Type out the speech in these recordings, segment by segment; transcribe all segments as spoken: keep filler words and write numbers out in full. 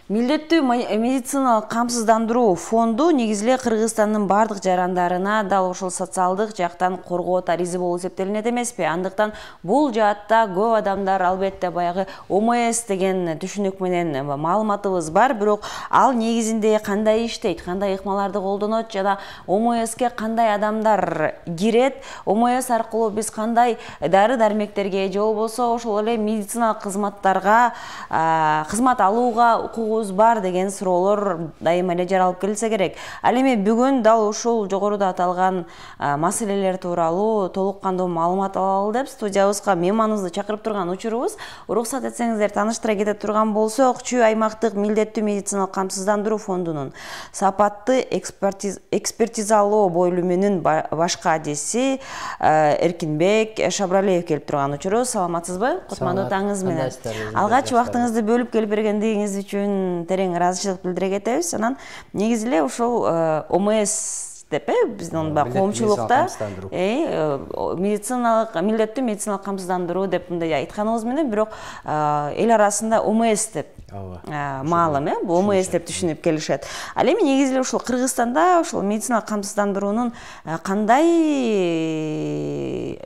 Милдеттүү медициналык камсыздандыруу фонду негизи эле Кыргызстандын бардык жарандарына дал ошол социалдык жактан коргоот аризы болуп эсептелинет эмеспи? Андыктан бул жаатта көп адамдар албетте баягы О М С деген түшүнүк менен маалыматыбыз бар, бирок ал негизинде кандай иштейт, кандай ыкмаларды колдонот жана О М Ске кандай адамдар кирет, О М С аркылуу биз кандай дары-дармектерге же болбосо ошол эле медициналык кызматтарга кызмат алууга укугубуз бар деген суроолор дайыма эле жаралып келсе керек. Ал эми бүгүн дал ушул жогоруда аталган маселелер тууралуу толук кандуу маалымат алалы деп студиябызга мейманыбызды чакырып турган учурубуз. Уруксат этсеңиздер тааныштыра кете турган болсок, Чүй аймактык милдеттүү медициналык камсыздандыруу фондунун сапатты экспертизалоо бөлүмүнүн башкы адиси Эркинбек Шабралиев келип турган учурубуз. Саламатсызбы? Кутмандуу таңыңыз менен. Алгач убактыңызды бөлүп келип бергендигиңиз үчүн терең ыраазычылык билдире кетебиз. Анан негизи эле ушул О М С деп э биздин коомчулукта медициналык милдеттүү медициналык камсыздандыруу деп мындай айтканыбыз менен, бирок эл арасында О М С деп маалым, э О М С деп түшүнүп келишет. Ал эми негизи эле ушул Кыргызстанда ушул медициналык камсыздандыруунун кандай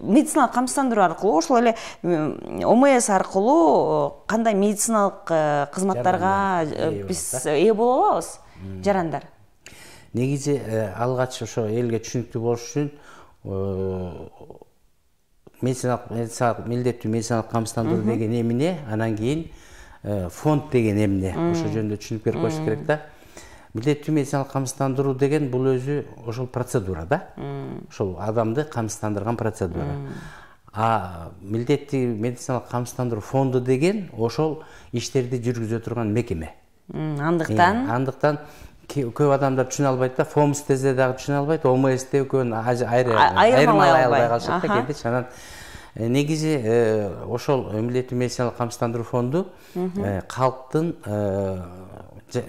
медициналык камсыздандыруу аркылуу ошол эле О М С аркылуу кандай медициналык кызматтарга биз ээ боло алабыз, жарандар? Негизи алгач ошо элге түшүнүктүү болуш үчүн медициналык милдеттүү медициналык камсыздандыруу деген эмне, анан кийин фонд деген эмне, ошол жөнүндө түшүнүп берип коюш керек да. Милдеттүү медициналык камсыздандыруу деген бул өзү ошол процедура да. Ошол адамды камсыздандырган процедура. А милдеттүү медициналык камсыздандыруу фонду деген ошол иштерди жүргүзө турган мекеме. Андыктан андыктан көп адамдар түшүнө албайт да, фомс десе дагы түшүнө албайт, О М С деп көбүн айырмалай албай калышат да кээде. Анан негизи ошол милдеттүү медициналык камсыздандыруу фонду калктын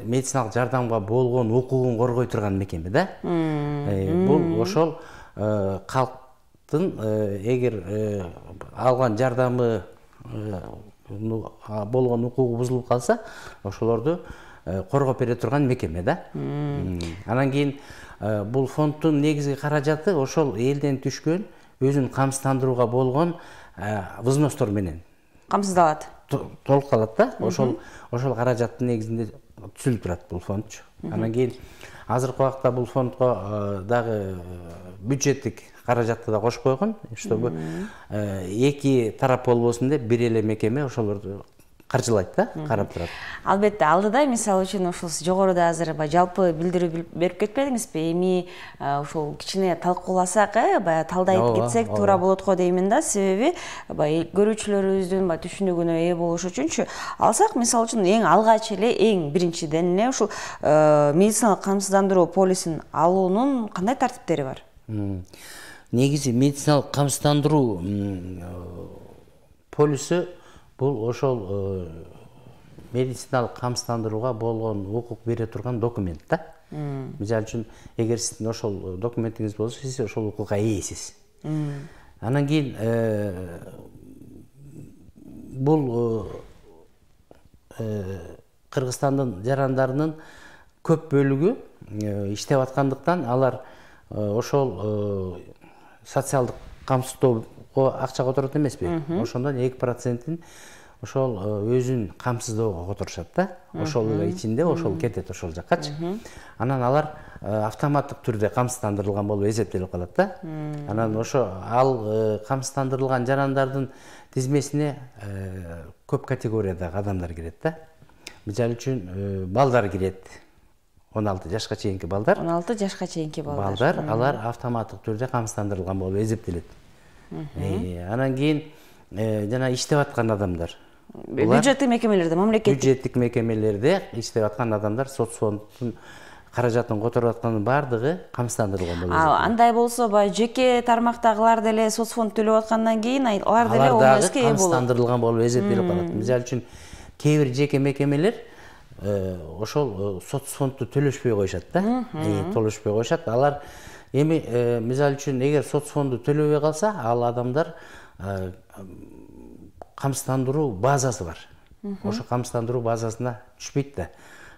медициналык жардамга болгон укугун коргой турган мекеме да. Бул ошол калктын эгер алган жардамы болгон укугу бузулуп калса, ошолорду коргоп бере турган мекеме да. Анан кийин бул фонддун негизги каражаты ошол элден түшкөн өзүн камсыздандырууга болгон взностор менен камсыздалат, толук калат да. Ошол ошол каражаттын негизинде түзүлүп турат бул фондчу. Анан кийин азыркы убакта бул фондго дагы бюджеттик каражатты да кошуп койгон, чтобы эки тарап болбосун деп бир эле мекеме ошолорду каржылайт да, карап турат. Албетте, алдыда мисалы үчүн ушул жогоруда азыр жалпы билдирүү берип кетпедиңизби? Эми ушул кичине талкууласак, э, баягы талдайт кетсек туура болот го деймин да. Себеби баягы көрүүчүлөрүбүздүн баягы түшүнүгүнө ээ болуш үчүнчү алсак, мисалы үчүн эң алгач эле, эң биринчиден эле ушул медициналык камсыздандыруу полисин алуунун кандай тартиптери бар? Негизи медициналык камсыздандыруу полисі бул ошол медициналык камсыздандырууга болгон укук бере турган документ да. Мисалы үчүн, эгер сиздин ошол документиңиз болсо, сиз ошол укукка ээсиз. Анан кийин бул Кыргызстандын жарандарынын көп бөлүгү иштеп аткандыктан алар ошол социалдык камсыздоого акча которот эмеспи? Ошондон эки процентин ошол өзүн камсыздоого которушат да. Ошол эле ичинде ошол кетет ошол жаккачы. Анан алар автоматтык түрдө камсыздандырылган болуп эсептелип калат да. Анан ошо ал камсыздандырылган жарандардын тизмесине көп категориядагы адамдар кирет да. Мисалы үчүн балдар кирет. он алты жашка чейинки балдар. он алты жашка чейинки балдар. Балдар, алар автоматтык түрдө камсыздандырылган болуп эсептелет. Анан кийин жана иштеп аткан адамдар. Бюджеттик мекемелерде, мамлекеттик бюджеттик мекемелерде иштеп аткан адамдар соцфонддун каражатын которуп атканын баардыгы камсыздандырылган болуп эсептелет. Андай болсо, баягы жеке тармактагылар деле соцфонд төлөп аткандан кийин алар деле О М Ске ээ болот. Камсыздандырылган болуп эсептелип калат. Мисалы үчүн, кээ бир жеке мекемелер ошол соцфондду төлөшпөй коюшат да. Төлөшпөй коюшат. Алар эми мисалы үчүн, эгер соцфонду төлөбөй калса, ал адамдар камсыздандыруу базасы бар. ошо камсыздандыруу базасына түшпөйт да.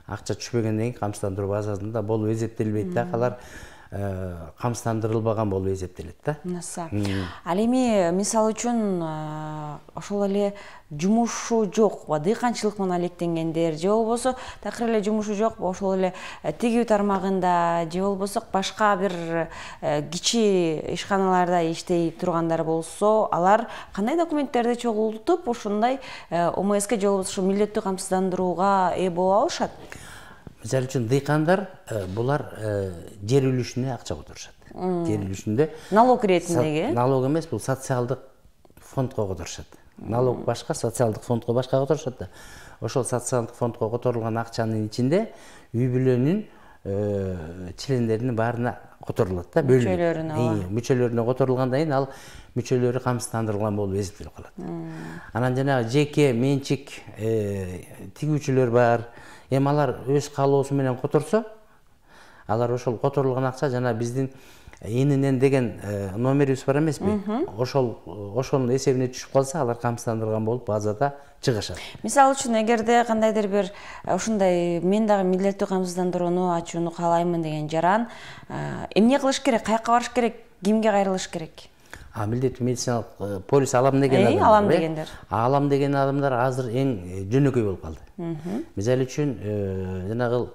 Акча түшпөгөндөн кийин камсыздандыруу базасында болуп эсептелбейт да, алар камсыздандырылбаган болуп эсептелет да. Ал эми мисалы үчүн ошол эле жумушу жок, дыйканчылык менен алектенгендер же болбосо такыр эле жумушу жок, ошол эле тигүү тармагында же болбосо башка бир кичи ишканаларда иштей тургандар болсо, алар кандай документтерди чогултуп ушундай О М Ске же болбосо милдеттүү камсыздандырууга ээ боло алышат? Мисалы үчүн дыйкандар булар жер үлүшүнө акча которушат. Жер үлүшүндө налог иретиндеги? Налог эмес, бул социалдык фондко которушат. Налог башка, социалдык фондко башка которушат да. Ошол социалдык фондко которулган акчанын ичинде үй бүлөнүн члендеринин баарына которулат да, бөлүнүп. Мүчөлөрүнө. Мүчөлөрүнө которулгандан кийин ал мүчөлөрү камсыздандырылган болуп эсептелип калат. Анан жанагы жеке менчик тигүүчүлөр бар. Эми алар өз каалоосу менен которсо, алар ошол которулган акча жана биздин энинен деген номерибиз бар эмеспи? Ошол ошонун эсебине түшүп калса, алар камсыздандырылган болуп базада чыгышат. Мисалы үчүн, эгерде кандайдыр бир ушундай мен дагы милдеттүү камсыздандырууну ачууну каалаймын деген жаран эмне кылыш керек, каяка барыш керек, кимге кайрылыш керек? А милдеттүү медициналык полис алам деген адамдар. Алам дегендер. Алам деген адамдар азыр эң жөнөкөй болуп калды. Мисалы үчүн жанагы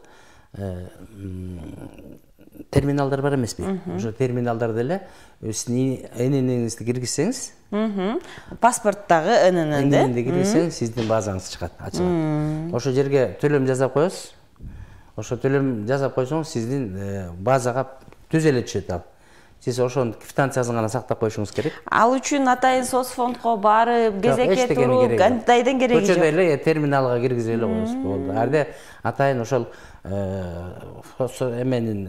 терминалдар бар эмеспи? Ошо терминалдарда эле сиздин энениңизди киргизсеңиз, паспорттагы эненин эненди киргизсеңиз, сиздин базаңыз чыгат, ачылат. Ошо жерге төлөм жасап коесуз. Ошо төлөм жасап койсоңуз, сиздин базага түз эле түшөт ал. Сиз ошонун квитанциясын гана сактап коюшуңуз керек. Ал үчүн атайын соцфондко барып, кезекке туруп, кандайдын кереги жок. Көчөдө эле терминалга киргизип эле коесуз болду. Арды атайын ошол эменин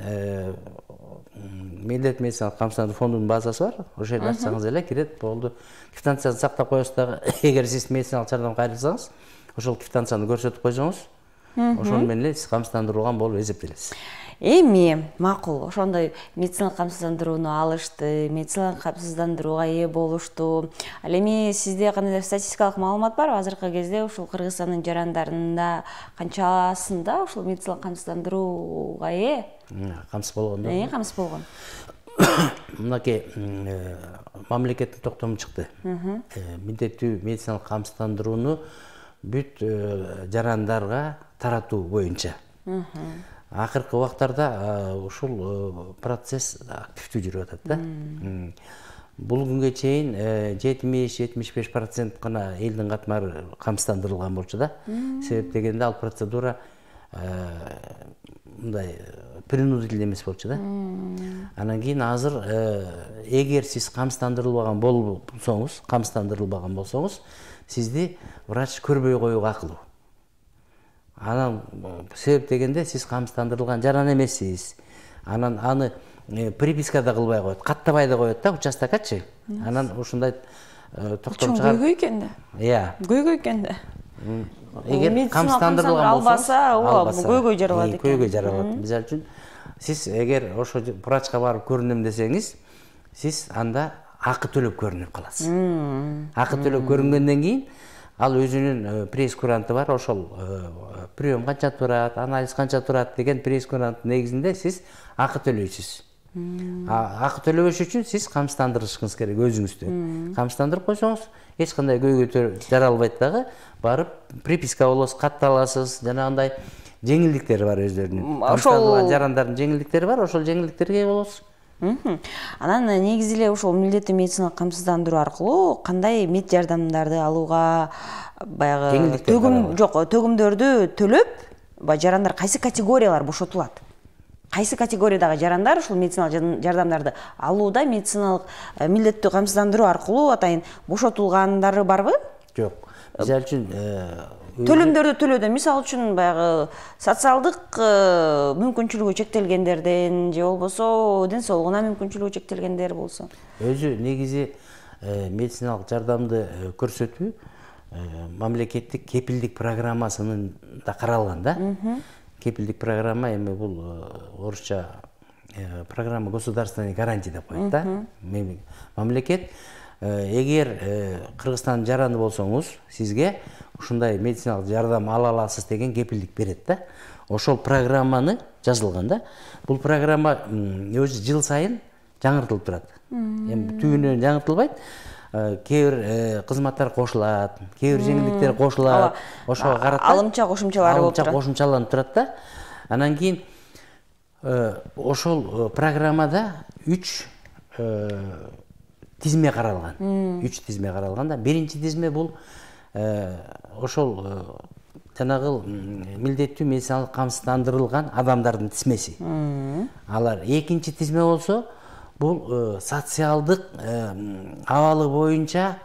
милдеттүү медициналык камсыздандыруу фондунун базасы бар. Ошол жерде ачсаңыз эле кирет, болду. Квитанцияны сактап коесуз дагы. Эгер сиз медициналык жардамга кайрылсаңыз, ошол квитанцияны көрсөтүп койсоңуз, ошону менен эле сиз камсыздандырылган болуп эсептелесиз. Эми макул, ошондой медициналык камсыздандырууну алышты, медициналык камсыздандырууга ээ болушту. Ал эми сизде кандайдыр статистикалык маалымат барбы? Азыркы кезде ушул Кыргызстандын жарандарында канчасында ушул медициналык камсыздандырууга ээ? Камсыз болгондор. Э, камсыз болгон. Мынакей мамлекеттин токтому чыкты. Милдеттүү медициналык камсыздандырууну бүт жарандарга таратуу боюнча. Акыркы убактарда ушул процесс активдүү жүрүп атат да. Бул күнгө чейин жетимиш жетимиш беш процент гана элдин катмары камсыздандырылган болчу да. Себеп дегенде ал процедура мындай принудительный эмес болчу да. Анан кийин азыр эгер сиз камсыздандырылбаган болсоңуз, камсыздандырылбаган болсоңуз, сизди врач көрбөй коюуга акылуу. Анан себеп дегенде сиз камсыздандырылган жаран эмессиз. Анан аны приписка да кылбай коет, каттабай да коет да участокачы. Анан ушундай токтом чыгар. Көйгөй экен да. Иә. Көйгөй экен да. Эгер камсыздандырылган болсо, албаса, көйгөй жаралат экен. Көйгөй жаралат. Мисалы үчүн, сиз эгер ошо врачка барып көрүнөм десеңиз, сиз анда акы төлөп көрүнүп каласыз. Акы төлөп көрүнгөндөн кийин ал өзүнүн прейскуранты бар, ошол прием канча турат, анализ канча турат деген прейскуранттын негизинде сиз акы төлөйсүз. Акы төлөбөш үчүн сиз камсыздандырышыңыз керек өзүңүздү. Камсыздандырып койсоңуз, эч кандай көйгөй жаралбайт дагы, барып приписка болосуз, катталасыз, жанагындай жеңилдиктери бар өздөрүнүн. Ошол жарандардын жеңилдиктери бар, ошол жеңилдиктерге ээ болосуз. Анан негизи эле ушул милдеттүү медициналык камсыздандыруу аркылуу кандай мед жардамдарды алууга баягы төгүм жок, төгүмдөрдү төлөп, жарандар кайсы категориялар бошотулат? Кайсы категориядагы жарандар ушул медициналык жардамдарды алууда медициналык милдеттүү камсыздандыруу аркылуу атайын бошотулгандары барбы? Жок. Мисалы үчүн төлөмдөрдү төлөөдө, мисалы үчүн баягы социалдык мүмкүнчүлүгү чектелгендерден же болбосо ден соолугуна мүмкүнчүлүгү чектелгендер болсо. Өзү негизи медициналык жардамды көрсөтүү мамлекеттик кепилдик программасынын да каралган да. Кепилдик программа эми бул орусча программа государственной гарантии деп коет да. Мамлекет эгер Кыргызстандын жараны болсоңуз, сизге ушундай медициналык жардам ала аласыз деген кепилдик берет да. Ошол программаны жазылган да. Бул программа өзү жыл сайын жаңыртылып турат. Эми түбүнөн жаңыртылбайт. Кээ бир кызматтар кошулат, кээ бир жеңилдиктер кошулат. Ошого карата алымча кошумчалары болуп турат. Алымча кошумчаланып турат да. Анан кийин ошол программада үч тизме каралган. үч тизме каралган да. Биринчи тизме бул ошол жанагы милдеттүү медициналык камсыздандырылган адамдардын тизмеси. Алар экинчи тизме болсо бул социалдык абалы боюнча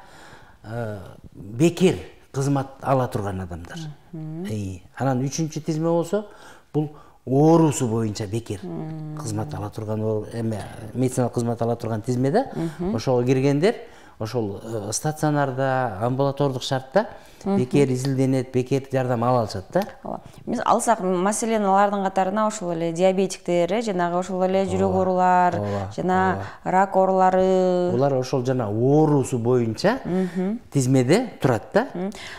бекер кызмат ала турган адамдар. Анан үчүнчү тизме болсо бул оорусу боюнча бекер кызмат ала турган, эме медициналык кызмат ала турган тизме да. Ошого киргендер ошол стационарда, амбулатордук шартта бекер изилденет, бекер жардам ала алышат да. Биз алсак, маселен, алардын катарына ошол эле диабетиктер, жанагы ошол эле жүрөк оорулар, жана рак оорулары. Булар ошол жана оорусу боюнча тизмеде турат да.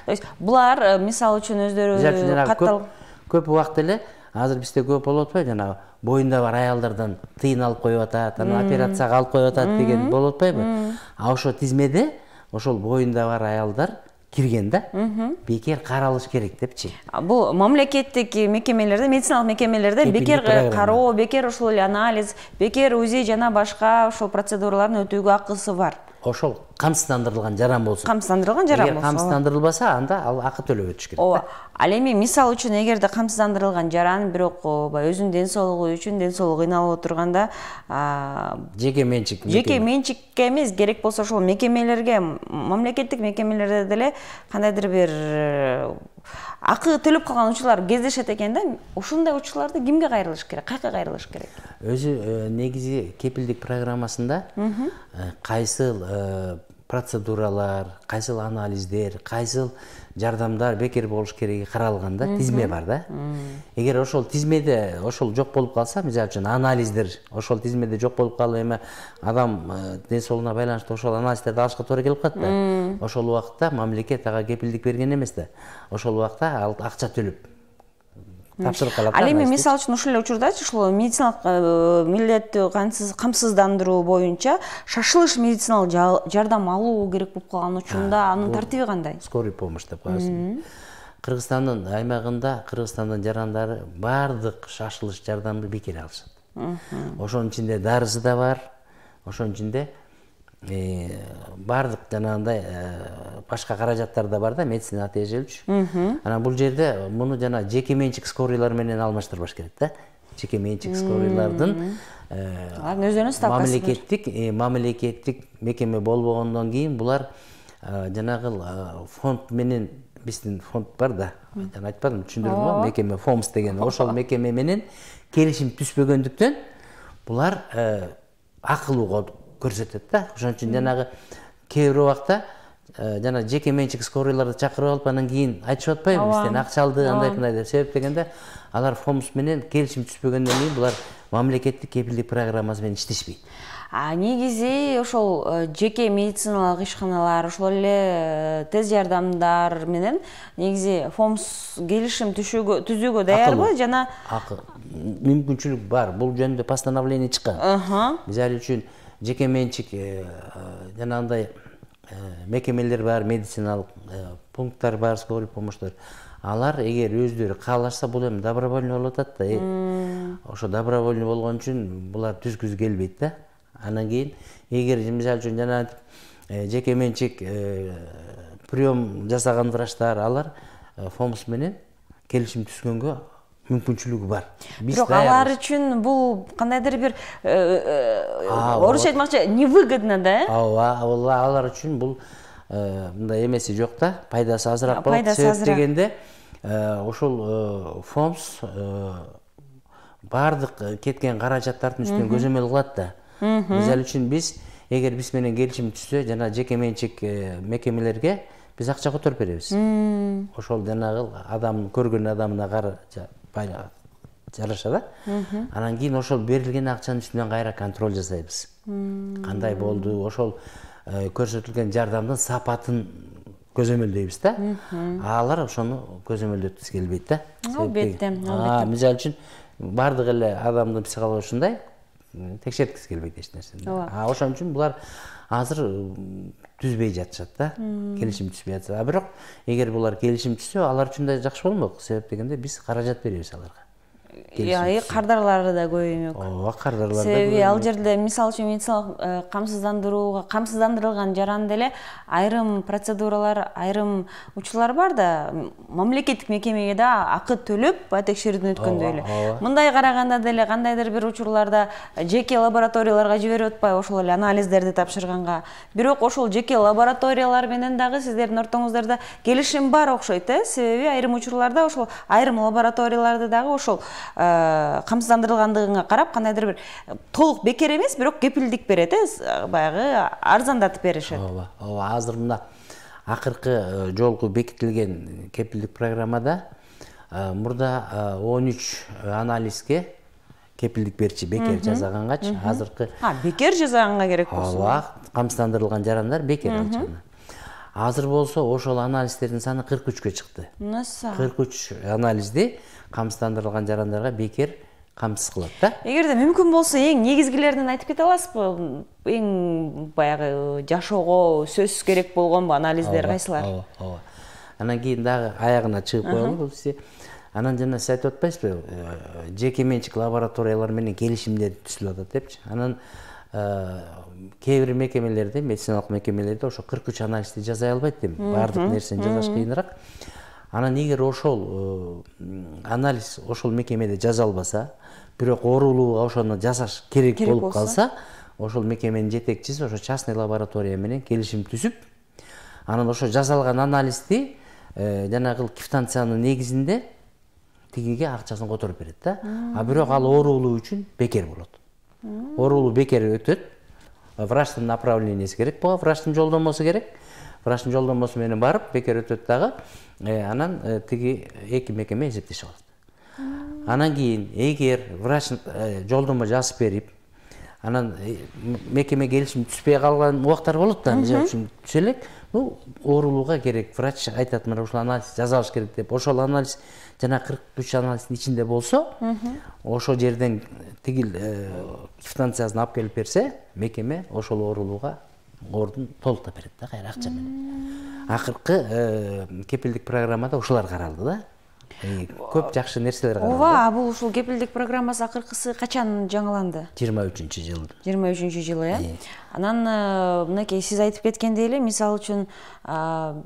То есть булар мисалы үчүн өздөрү каттал көп убакыт эле азыр бизде көп болуп атпайбы, жанагы боюнда бар аялдардан тыйын алып коюп атат, анан операцияга алып коюп атат деген болуп атпайбы? А ошо тизмеде ошол боюнда бар аялдар кирген да. Бекер каралыш керек депчи. Бул мамлекеттик мекемелерде, медициналык мекемелерде бекер кароо, бекер ошол эле анализ, бекер УЗИ жана башка ошол процедураларды өтүүгө акысы бар. Ошол камсыздандырылган жаран болсо. Камсыздандырылган жаран болсо. Эгер камсыздандырылбаса, анда ал акы төлөп өтүш керек. Ооба. Ал эми мисалы үчүн эгерде камсыздандырылган жаран бирок өзүнүн ден соолугу үчүн ден соолугу кыйналып отурганда, жеке менчик жеке менчикке эмес, керек болсо ошол мекемелерге, мамлекеттик мекемелерде деле кандайдыр бир акы төлөп калган учурлар кездешет экен да. Ушундай учурларды кимге кайрылыш керек? Кайка кайрылыш керек? Өзү негизи кепилдик программасында кайсыл процедуралар, кайсыл анализдер, кайсыл жардамдар бекер болуш кереги каралган да, тизме бар да. Эгер ошол тизмеде ошол жок болуп калса, мисалы үчүн анализдер ошол тизмеде жок болуп калып, эми адам ден соолугуна байланыштуу ошол анализдерди алышка туура келип калат да. Ошол убакта мамлекет ага кепилдик берген эмес да. Ошол убакта ал акча төлөп тапшырып калат. Ал эми мисалы үчүн ушул эле учурдачы ушул медициналык милдеттүү камсыздандыруу боюнча шашылыш медициналык жардам алуу керек болуп калган учурда анын тартиби кандай? Скорый помощь деп коесуң. Кыргызстандын аймагында Кыргызстандын жарандары бардык шашылыш жардамды бекер алышат. Ошонун ичинде дарысы да бар, ошонун ичинде бардык жанагындай башка каражаттар да бар да, медицина тиешеличү. Анан бул жерде муну жана жеке менчик скорийлар менен алмаштырбаш керек да. Жеке менчик скорийлардын мамлекеттик мамлекеттик мекеме болбогондон кийин булар жанагы фонд менен, биздин фонд бар да, жана айтпадым, түшүндүрдүмбү? Мекеме ФОМС деген, ошол мекеме менен келишим түшпөгөндүктөн булар акылуу көрсөтөт да. Ошон үчүн жанагы кээ бир убакта жана жеке менчик скорийларды чакырып алып, анан кийин айтышып атпайбы, бизден акча алды, андай мындай деп. Себеп дегенде алар ФОМС менен келишим түшпөгөндөн кийин булар мамлекеттик кепилдик программасы менен иштешпейт. А негизи ошол жеке медициналык ишканалар, ошол эле тез жардамдар менен негизи ФОМС келишим түзүүгө даярбы жана мүмкүнчүлүк бар. Бул жөнүндө постановление чыккан. Мисалы үчүн жеке менчик жанагындай мекемелер бар, медициналык пункттар бар, скорый помощьтор. Алар эгер өздөрү каалашса, бул эми добровольный болуп атат да. Ошо добровольный болгон үчүн булар түзгүзү келбейт да. Анан кийин эгер мисалы үчүн жана жеке менчик прием жасаган врачтар, алар ФОМС менен келишим түзгөнгө мүмкүнчүлүгү бар. Бирок алар үчүн бул кандайдыр бир орусча айтмакчы невыгодно да, э? Ооба, алар үчүн бул мындай эмеси жок да, пайдасы азыраак болот. Себеп дегенде ошол ФОМС бардык кеткен каражаттардын үстүнөн көзөмөл кылат да. Мисалы үчүн биз эгер биз менен келишим түзсө, жана жеке менчик мекемелерге биз акча которуп беребиз. Ошол жанагы адам көргөн адамына жараша да. Анан кийин ошол берилген акчанын үстүнөн кайра контроль жасайбыз. Кандай болду, ошол көрсөтүлгөн жардамдын сапатын көзөмөлдөйбүз да. Алар ошону көзөмөлдөткүсү келбейт да. Албетте, албетте. Мисалы үчүн бардык эле адамдын психологиясы ушундай, текшерткиси келбейт эч нерсени. А ошон үчүн булар азыр түзбөй жатышат да. Келишим түзбөй жатат. А бирок эгер булар келишим түзсө, алар үчүн да жакшы болмок. Себеп дегенде биз каражат беребиз аларга. Яй кардарлары да көп эмек. Ооба, кардарлар да. Себеби ал жерде мисалы үчүн медициналык камсыздандырууга камсыздандырылган жаранда эле айрым процедуралар, айрым учурлар бар да, мамлекеттик мекемеге да акы төлөп текшерүүдөн өткөндөй эле. Мындай караганда деле кандайдыр бир учурларда жеке лабораторияларга жиберип атпайбы ошол эле анализдерди тапшырганга. Бирок ошол жеке лабораториялар менен дагы сиздердин ортоңуздарда келишим бар окшойт, э? Себеби айрым учурларда ошол айрым лабораторияларды дагы ошол камсыздандырылгандыгыңа карап кандайдыр бир толук бекер эмес, бирок кепилдик берет, э, баягы арзандатып беришет. Ооба, ооба, азыр мына акыркы жолку бекитилген кепилдик программада мурда он үч анализге кепилдик берчи, бекер жасагангач, азыркы А, бекер жасаганга керек болсо. Ооба, камсыздандырылган жарандар бекер алчаны. Азыр болсо ошол анализдердин саны кырк үчкө чыкты. Наса. кырк үч анализди камсыздандырылган жарандарга бекер камсыз кылат да. Эгерде мүмкүн болсо эң негизгилеринен айтып кете аласызбы? Эң баягы жашоого сөзсүз керек болгон анализдер кайсылар? Ооба, ооба. Анан кийин дагы аягына чыгып коелу бул иши. Анан жана сиз айтып атпайсызбы? Жеке менчик лабораториялар менен келишимдер түзүлүп атат депчи. Анан кээ бир мекемелерде, медициналык мекемелерде ошо кырк үч анализди жасай албайт дейм. Бардык нерсени жасаш кыйыныраак. Анан эгер ошол анализ ошол мекемеде жасалбаса, бирок оорулууга ошону жасаш керек болуп калса, ошол мекеменин жетекчиси ошо частный лаборатория менен келишим түзүп, анан ошо жасалган анализди жанагы квитанциянын негизинде тигиге акчасын которуп берет да. А бирок ал оорулуу үчүн бекер болот. Оорулуу бекер өтөт. Врачтын направлениеси керек болот, врачтын жолдомосу керек. Врачтын жолдомосу менен барып бекер өтөт дагы. Анан тиги эки мекеме эсептешип алат. Анан кийин эгер врач жолдомо жазып берип, анан мекеме келишим түзбөй калган убактар болот да, мисалы үчүн түзө элек, бул оорулууга керек, врач айтат мына ушул анализ жасалыш керек деп, ошол анализ жана кырк үч анализдин ичинде болсо, ошол жерден тигил квитанциясын алып келип берсе, мекеме ошол оорулууга ордун толуктап берет да, кайра акча менен. Акыркы кепилдик программада ушулар каралды да. Көп жакшы нерселер каралды. Ооба, бул ушул кепилдик программасы акыркысы качан жаңыланды? жыйырма үчүнчү жыл. жыйырма үчүнчү жылы, э? Анан мынакей сиз айтып кеткендей эле, мисалы үчүн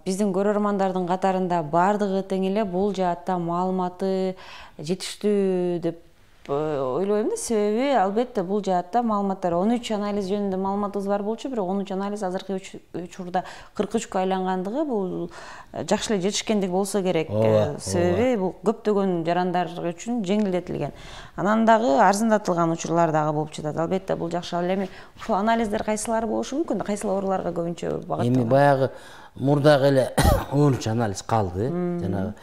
биздин көрөрмандардын катарында бардыгы тең эле бул жаатта маалыматы жетиштүү деп ойлойм да. Себеби албетте бул жаатта маалыматтар он үч анализ жөнүндө маалыматыбыз бар болчу, бирок он үч анализ азыркы учурда кырк үчкө айлангандыгы бул жакшы эле жетишкендик болсо керек. Себеби бул көптөгөн жарандар үчүн жеңилдетилген. Анан дагы арзандатылган учурлар дагы болуп жатат. Албетте бул жакшы. Ал эми ушул анализдер кайсылары болушу мүмкүн? Кайсыл ооруларга көбүнчө багытталган? Эми баягы мурдагы эле он үч анализ калды. Жанагы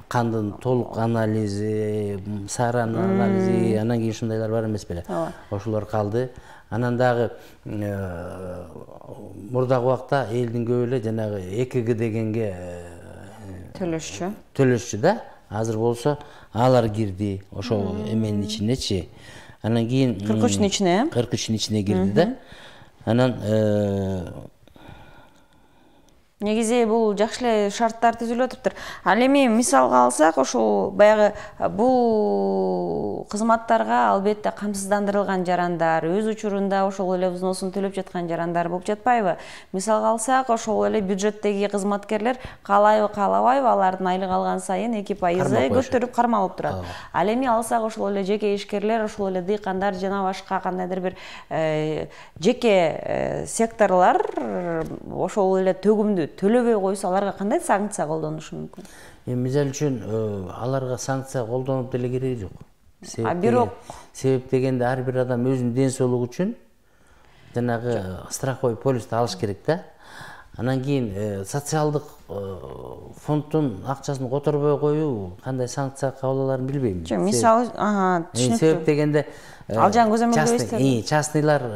кандын толук анализи, саранын анализи, анан кийин ушундайлар бар эмес беле. Ошолор калды. Анан дагы мурдагы убакта элдин көбү эле жанагы э к г дегенге төлөшчү. Төлөшчү да. Азыр болсо алар кирди ошол эменин ичинечи. Анан кийин кырк үчтүн ичине, кырк үчтүн ичине кирди да. Анан негизи бул жакшы эле шарттар түзүлүп атыптыр. Ал эми мисалга алсак, ошол баягы бул кызматтарга албетте камсыздандырылган жарандар, өз учурунда ошол эле взносун төлөп жаткан жарандар болуп жатпайбы? Мисалга алсак, ошол эле бюджеттеги кызматкерлер каалайбы, каалабайбы, алардын айлык алган сайын эки пайызы көтөрүп кармалып турат. Ал эми алсак, ошол эле жеке ишкерлер, ошол эле дыйкандар жана башка кандайдыр бир жеке секторлор ошол эле төгүмдү төлөбөй койсо, аларга кандай санкция колдонушу мүмкүн? Эми мисалы үчүн аларга санкция колдонуп деле кереги жок. А бирок себеп дегенде ар бир адам өзүнүн ден соолугу үчүн жанагы страховой полисти алыш керек да. Анан кийин социалдык фонддун акчасын которбой коюу кандай санкция кабыл аларын билбейм. Жок, мисалы, ага, түшүнүктүү. Себеп дегенде ал жан көзөмөлдөйсүз. Частныйлар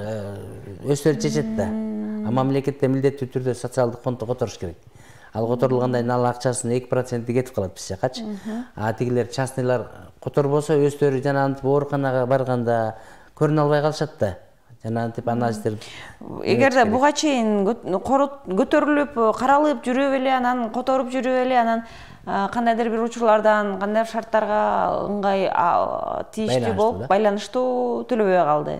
өздөрү чечет да. А мамлекетте милдеттүү түрдө социалдык фондду которуш керек. ал которулгандан кийин ал акчасынын эки проценти кетип калат биз жакачы. А тигилер частныйлар которбосо өздөрү жанагынтип ооруканага барганда көрүнө албай калышат да. Жанагынтип анализдер. Эгерде буга чейин көтөрүлүп, каралып жүрүп эле, анан которуп жүрүп эле, анан кандайдыр бир учурлардан, кандайдыр шарттарга ыңгай тийиштүү болуп, байланыштуу төлөбөй калды.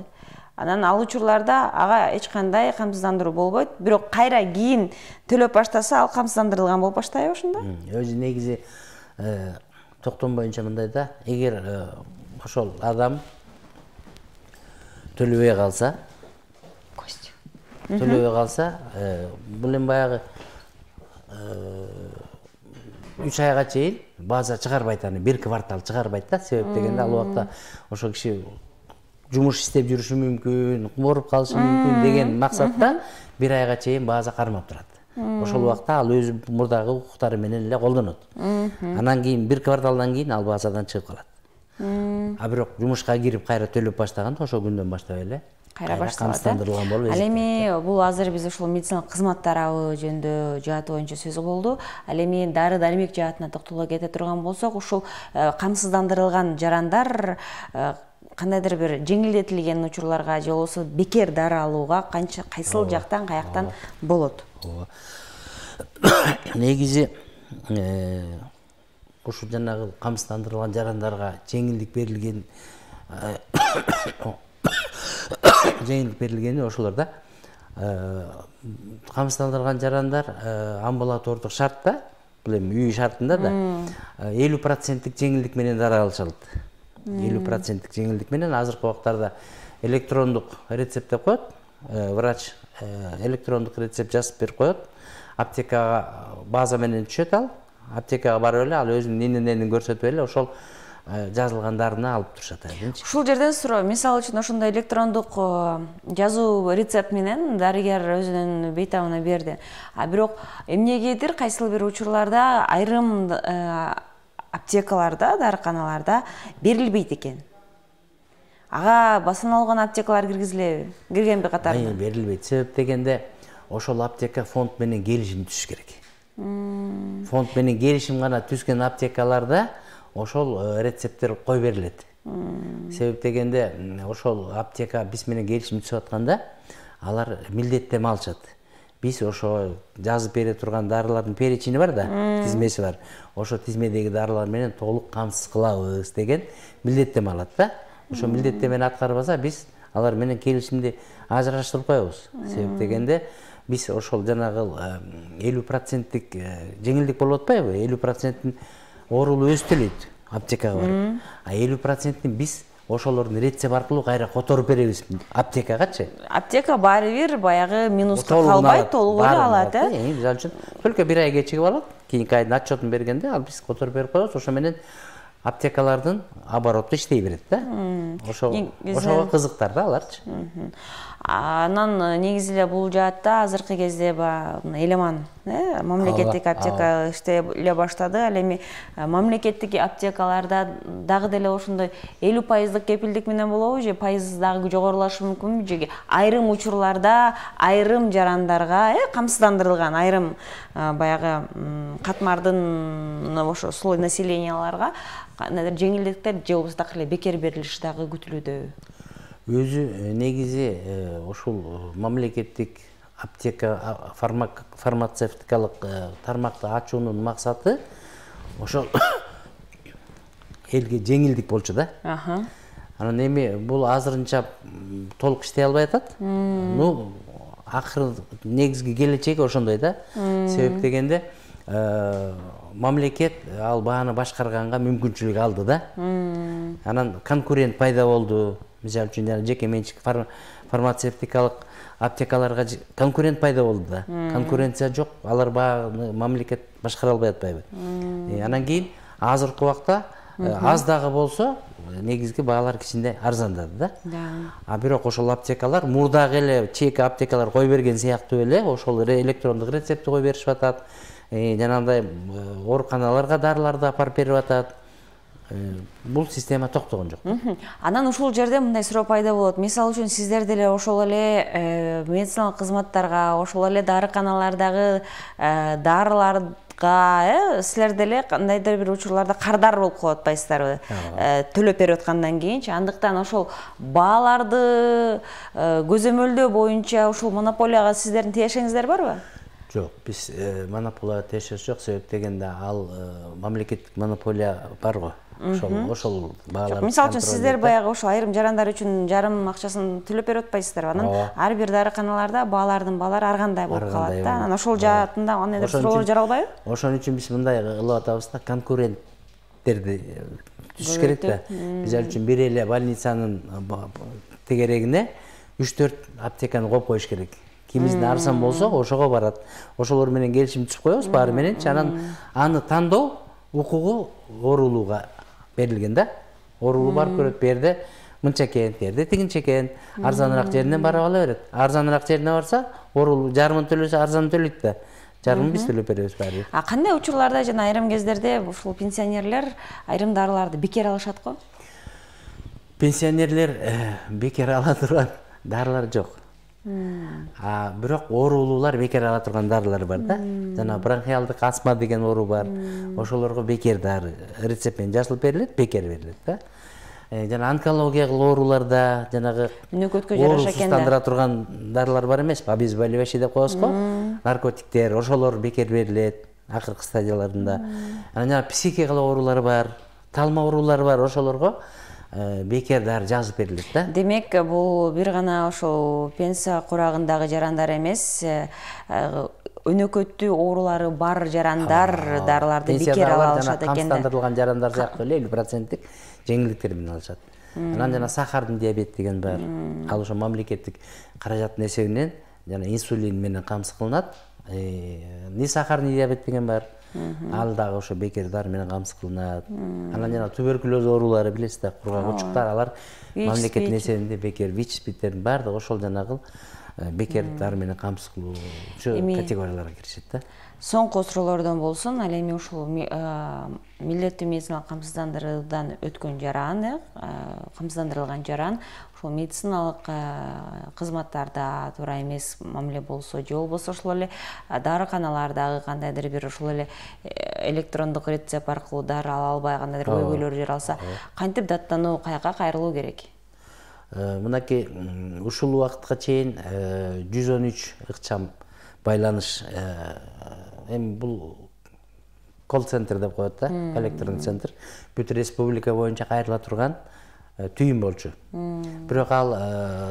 Анан ал учурларда ага эч кандай камсыздандыруу болбойт, бирок кайра кийин төлөп баштаса, ал камсыздандырылган болуп баштайбы ошондо? Өзү негизи токтом боюнча мындай да, эгер ошол адам төлөбөй калса, төлөбөй калса, бул эми баягы үч айга чейин база чыгарбайт, аны бир квартал чыгарбайт да. Себеп дегенде ал убакта ошол киши жумуш иштеп жүрүшү мүмкүн, ооруп калышы мүмкүн деген максатта бир айга чейин база кармап турат. Ошол убакта ал өзү мурдагы укуктары менен эле колдонот. Анан кийин бир кварталдан кийин ал базадан чыгып калат. А бирок жумушка кирип кайра төлөп баштаганда ошол күндөн баштап эле кайра башталат. Камсыздандырылган болуп эсептелет. Ал эми бул азыр биз ошол медициналык кызматтар абы жөнүндө жааты боюнча сөз болду. Ал эми дары дармек жаатына токтоло кете турган болсок, ушул камсыздандырылган жарандар кандайдыр бир жеңилдетилген учурларга же болбосо бекер дары алууга канча кайсыл жактан каяктан болот? Негизи ушул жанагы камсыздандырылган жарандарга жеңилдик берилген жеңилдик берилгени ошолор да. Камсыздандырылган жарандар амбулатордук шартта, бул эми үй шартында да элүү проценттик жеңилдик менен дары алышат. элүү проценттик жеңилдик менен азыркы убактарда электрондук рецепт деп коет. Врач электрондук рецепт жазып берип коет. Аптекага база менен түшөт ал. Аптекага барып эле ал өзүнүн эмнени көрсөтүп эле ошол жазылган дарыны алып турушат. Ушул жерден суроо, мисалы үчүн ошондой электрондук жазуу рецепт менен дарыгер өзүнүн бейтабына берди. А бирок эмнегедир кайсыл бир учурларда айрым аптекаларда, дарыканаларда берилбейт экен. Ага басыналган аптекалар киргизилеби? Киргенби катарына? Берилбейт. Себеп дегенде ошол аптека фонд менен келишим түзүш керек. Фонд менен келишим гана түзгөн аптекаларда ошол рецепттер кой берилет. Себеп дегенде ошол аптека биз менен келишим түзүп атканда алар милдеттеме алышат. Биз ошо жазып бере турган дарылардын перечини бар да, тизмеси бар. Ошо тизмедеги дарылар менен толук камсыз кылабыз деген милдеттеме алат да. Ошо милдеттемени аткарбаса биз алар менен келишимди ажыраштырып коебуз. Себеп дегенде биз ошол жанагы элүү проценттик жеңилдик болуп атпайбы? элүү проценттин оорулуу өзү төлөйт аптекага барып. А элүү проценттин биз ошолордун рецепт аркылуу кайра которуп беребиз аптекагачы. Аптека баары бир баягы минуска калбай толук эле алат, э? Мисалы үчүн только бир ай кечигип алат. Кийинки айдын отчетун бергенде ал биз которуп берип коебуз. Ошо менен аптекалардын обороту иштей берет да. Ошого кызыктар да аларчы. Анан негизи эле бул жаатта азыркы кезде элеман мамлекеттик аптека иштей баштады. Ал эми мамлекеттик аптекаларда дагы деле ошондой элүү пайыздык кепилдик менен болобу же пайыз дагы жогорулашы мүмкүнбү же айрым учурларда айрым жарандарга камсыздандырылган айрым баягы катмардын ошо слой населенияларга кандайдыр жеңилдиктер же болбосо так эле бекер берилиши дагы күтүлүүдө? Өзү негизи ушул мамлекеттик аптека фармацевтикалык тармакты ачуунун максаты ошол элге жеңилдик болчу да. Анан эми бул азырынча толук иштей албай атат. Ну, акыры негизги келечеги ошондой да. Себеп дегенде мамлекет ал бааны башкарганга мүмкүнчүлүк алды да. Анан конкурент пайда болду. Мисалы үчүн жеке менчик фармацевтикалык аптекаларга конкурент пайда болду да. Конкуренция жок, алар бааны мамлекет башкара албай атпайбы. Анан кийин азыркы убакта аз дагы болсо негизги баалар кичине арзандады да. А бирок ошол аптекалар мурдагы эле чек аптекалар кой берген сыяктуу эле ошол электрондук рецептти кой беришип атат. Жанагындай ооруканаларга дарыларды апарып берип атат. бул система токтогон жок. Анан ушул жерде мындай суроо пайда болот. Мисалы үчүн сиздер деле ошол эле медициналык кызматтарга, ошол эле дарыканалардагы дарылар э силер деле кандайдыр бир учурларда кардар болуп калып атпайсыздарбы? Төлөп берип аткандан кийинчи. Андыктан ошол бааларды көзөмөлдөө боюнча ушул монополияга сиздердин тиешеңиздер барбы? Жок, биз монополияга тиешебиз жок. Себеп дегенде ал мамлекеттик монополия бар го. Ошол ошол баалар. Мисалы үчүн сиздер баягы ошо айрым жарандар үчүн жарым акчасын төлөп берип атпайсыздарбы? Анан ар бир дарыканаларда баалардын баалары ар кандай болуп калат да. Анан ошол жаатында кандайдыр суроолор жаралбайбы? Ошон үчүн биз мындай кылып атабыз да, конкуренттерди түзүш керек да. Мисалы үчүн бир эле больницанын тегерегине үч төрт аптеканы коюп коюш керек. Кимиздин арзан болсо ошого барат. Ошолор менен келишим түзүп коебуз баары мененчи. Анан аны тандоо укугу оорулууга берилген да. Оорулуу барып көрөт, берде мынча экен, берде тигинче экен. Арзаныраак жеринен барып ала берет. Арзаныраак жерине барса, оорулуу жарымын төлөсө арзан төлөйт да. Жарымын биз төлөп беребиз баары. А кандай учурларда жана айрым кездерде ушул пенсионерлер айрым дарыларды бекер алышат го? Пенсионерлер бекер ала турган дарылар жок. А бирок оорулуулар бекер ала турган дарылар бар да. Жана бронхиалдык астма деген оору бар. Ошолорго бекер дары рецепт менен жазылып берилет, бекер берилет да. Жана онкологиялык ооруларда жанагы өнөкөткө жараша экен да. Ооруздандыра турган дарылар бар эмеспи? Обезболивающий деп коебуз го. Наркотиктер, ошолор бекер берилет акыркы стадияларында. Анан жана психикалык оорулар бар, талма оорулары бар, ошолорго бекер дары жазып берилет да. Демек, бул бир гана ошол пенсия курагындагы жарандар эмес, өнөкөттүү оорулары бар жарандар дарыларды бекер ала алышат экен да. Камсыздандырылган жарандар сыяктуу эле элүү проценттик жеңилдиктер менен алышат. Анан жана сахардын диабет деген бар. Ал ошо мамлекеттик каражаттын эсебинен жана инсулин менен камсыз кылынат. Ни сахарный диабет деген бар. Ал дагы ошо бекер дары менен камсыз кылынат. Анан жана туберкулез оорулары билесиз да, кургак-учуктар, алар мамлекеттин эсебинде бекер, ВИЧ-спидтердин баардыгы ошол жанагы бекер дары менен камсыз кылуучу категорияларга киришет да. Соңку суроолордон болсун, ал эми ушул милдеттүү медициналык камсыздандыруудан өткөн жаран, камсыздандырылган жаран ошол медициналык кызматтарда туура эмес мамиле болсо, же болбосо ошол эле дарыканалардагы кандайдыр бир ошол эле электрондук рецепт аркылуу дары ала албай кандайдыр көйгөйлөр жаралса, кантип даттануу, каяка кайрылуу керек? Мынакей ушул убакытка чейин жүз он үч ыкчам байланыш, эми бул колл-центр деп коет да, коллектордун центр, бүт республика боюнча кайрыла турган түйүн болчу. Бирок ал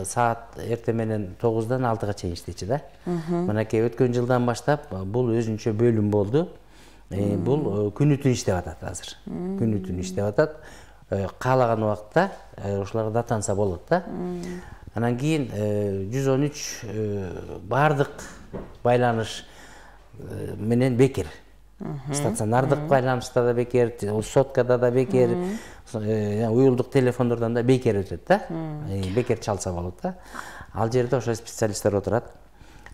саат эртең менен тогуздан алтыга чейин иштечү да. Мынакей өткөн жылдан баштап бул өзүнчө бөлүм болду. Бул күнү түн иштеп атат азыр. Күнү түн иштеп атат. Каалаган убакта ошолорго даттанса болот да. Анан кийин жүз он үч баардык байланыш менен бекер. Стационардык байланышта да бекер, соткада да бекер, уюлдук телефондордон да бекер өтөт да. Бекер чалса болот да. Ал жерде ошо специалисттер отурат.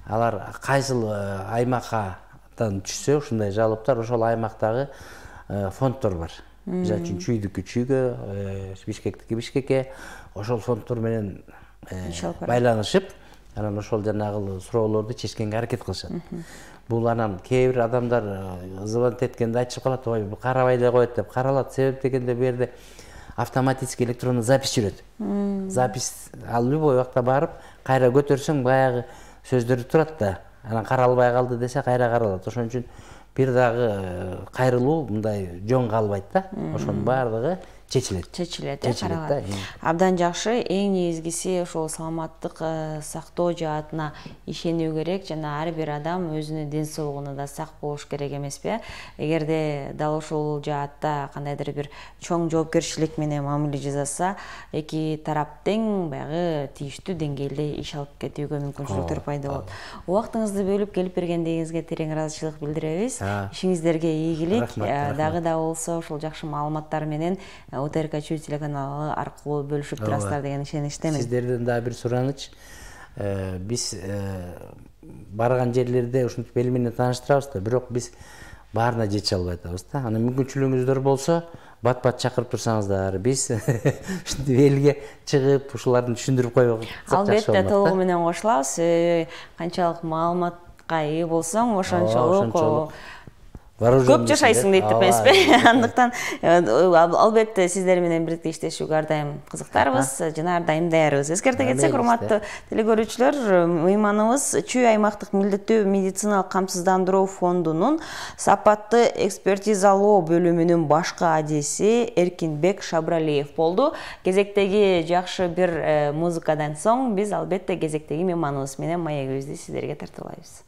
Алар кайсыл аймактан түшсө ушундай жалоптор, ошол аймактагы фонддор бар. Мисалы үчүн Чүйдүккү Чүйгө, Бишкектики Бишкекке, ошол фонддор менен байланышып, анан ошол жанагы суроолорду чечкенге аракет кылышат. Бул анан кээ бир адамдар звонок эткенде айтышып калат, ой, бул карабай эле коет деп. Каралат, себеп дегенде бу жерде автоматический электрондук запись жүрөт. Запись ал любой убакта барып, кайра көтөрсөң баягы сөздөрү турат да. Анан каралбай калды десе кайра каралат. Ошон үчүн бир дагы кайрылуу мындай жөн калбайт да. Ошонун баардыгы чечилет. Чечилет, каралат. Абдан жакшы. Эң негизгиси ошол саламаттык сактоо жаатына ишенүү керек жана ар бир адам өзүнүн ден соолугуна да сак болуш керек эмеспи? Эгерде дал ошол жаатта кандайдыр бир чоң жоопкерчилик менен мамиле жасаса, эки тарап тең баягы тийиштүү деңгээлде иш алып кетүүгө мүмкүнчүлүктөр пайда болот. Убактыңызды бөлүп келип бергендигиңизге терең ыраазычылык билдиребиз. Ишиңиздерге ийгилик. Дагы да болсо ошол жакшы маалыматтар менен ОТРК Чүй телеканалы аркылуу бөлүшүп турасыздар деген ишеничтемин. Сиздерден дагы бир сураныч. Биз барган жерлерде ушинтип эл менен тааныштырабыз да, бирок биз баарына жете албай атабыз да. Анан мүмкүнчүлүгүңүздөр болсо, бат-бат чакырып турсаңыздар, биз ушинтип элге чыгып, ушуларды түшүндүрүп койсок жакшы болмок да. Албетте, толугу менен кошулабыз. Канчалык маалыматка ээ болсоң, ошончолук көп жашайсың дейт деп эмеспи? Андыктан албетте сиздер менен бирдикте иштешүүгө ар дайым кызыктарбыз жана ар дайым даярбыз. Эскерте кетсек, урматтуу телекөрүүчүлөр, мейманыбыз Чүй аймактык милдеттүү медициналык камсыздандыруу фондунун сапаттуу экспертизалоо бөлүмүнүн башкы адиси Эркинбек Шабралиев болду. Кезектеги жакшы бир музыкадан соң биз албетте кезектеги мейманыбыз менен маегибизди сиздерге тартуулайбыз.